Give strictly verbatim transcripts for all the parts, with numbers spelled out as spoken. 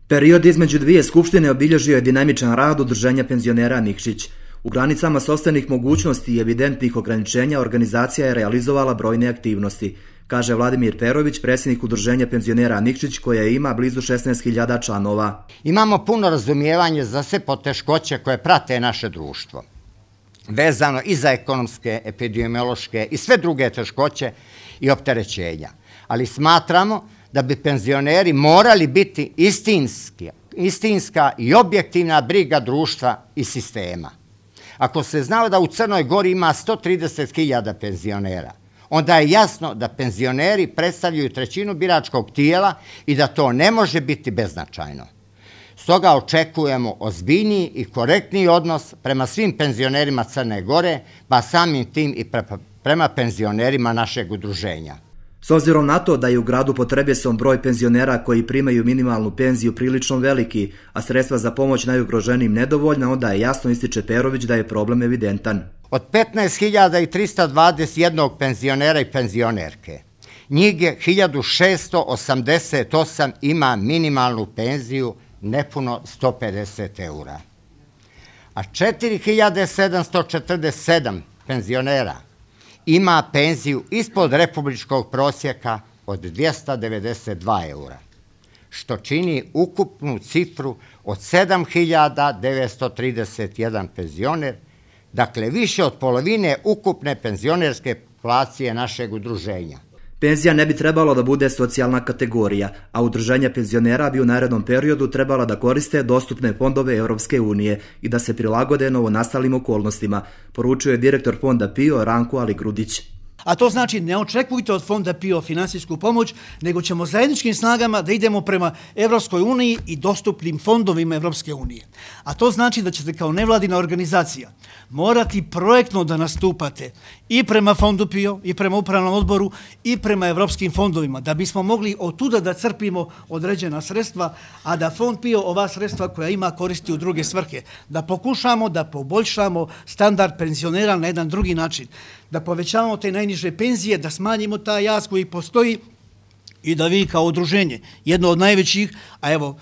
Period između dvije skupštine obilježio je dinamičan rad Udruženja penzionera Nikšić. U granicama sopstvenih mogućnosti i evidentnih ograničenja organizacija je realizovala brojne aktivnosti, kaže Vladimir Perović, predsjednik Udruženja penzionera Nikšić, koja ima blizu šesnaest hiljada članova. Imamo puno razumijevanje za sve poteškoće koje prate naše društvo, vezano i za ekonomske, epidemiološke i sve druge teškoće i opterećenja. Ali smatramo da bi penzioneri morali biti istinski, istinska i objektivna briga društva i sistema. Ako se znao da u Crnoj Gori ima sto trideset hiljada penzionera, onda je jasno da penzioneri predstavljaju trećinu biračkog tijela i da to ne može biti beznačajno. Stoga očekujemo ozbiljniji i korektniji odnos prema svim penzionerima Crne Gore, pa samim tim i prema penzionerima našeg udruženja. S obzirom na to da je u gradu potrebesom broj penzionera koji primaju minimalnu penziju prilično veliki, a sredstva za pomoć najugroženijim nedovoljna, onda je jasno, ističe Perović, da je problem evidentan. Od petnaest hiljada trista dvadeset jedan penzionera i penzionerke, njih je hiljadu šesto osamdeset osam ima minimalnu penziju nepuno sto pedeset eura, a četiri hiljade sedamsto četrdeset sedam penzionera ima penziju ispod republičkog prosjeka od dvjesto devedeset dva eura, što čini ukupnu cifru od sedam hiljada devetsto trideset jedan penzioner, dakle više od polovine ukupne penzionerske populacije našeg udruženja. Penzija ne bi trebalo da bude socijalna kategorija, a udruženja penzionera bi u narednom periodu trebala da koriste dostupne fondove Europske unije i da se prilagode novonastalim okolnostima, poručuje direktor fonda PIO Ranko Aligrudić. A to znači ne očekujte od fonda PIO finansijsku pomoć, nego ćemo zajedničkim snagama da idemo prema Evropskoj uniji i dostupnim fondovima Evropske unije. A to znači da ćete kao nevladina organizacija morati projektno da nastupate i prema fondu PIO, i prema upravnom odboru, i prema evropskim fondovima, da bismo mogli od tuda da crpimo određena sredstva, a da fond PIO ova sredstva koja ima koristi u druge svrhe, da pokušamo da poboljšamo standard penzionera na jedan drugi način, da povećavamo te najniže penzije, da smanjimo taj jaz koji postoji i da vi kao udruženje, jedno od najvećih, a evo,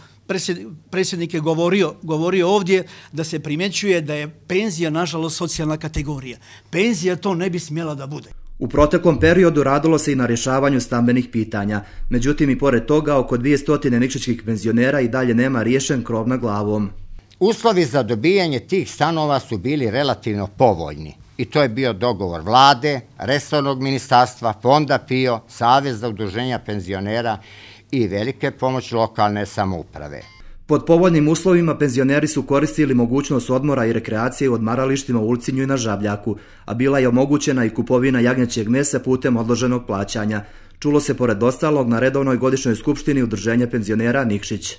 predsjednik je govorio, govorio ovdje da se primjećuje da je penzija, nažalost, socijalna kategorija. Penzija to ne bi smjela da bude. U proteklom periodu radilo se i na rješavanju stambenih pitanja. Međutim, i pored toga, oko dvjesto nikšićkih penzionera i dalje nema riješen krov nad glavom. Uslovi za dobijanje tih stanova su bili relativno povoljni. I to je bio dogovor vlade, resornog ministarstva, fonda PIO, Saveza udruženja penzionera i velike pomoći lokalne samouprave. Pod povoljnim uslovima penzioneri su koristili mogućnost odmora i rekreacije u odmaralištima u Ulcinju i na Žabljaku, a bila je omogućena i kupovina jagnjećeg mesa putem odloženog plaćanja. Čulo se pored ostalog na redovnoj godišnjoj skupštini Udruženja penzionera Nikšić.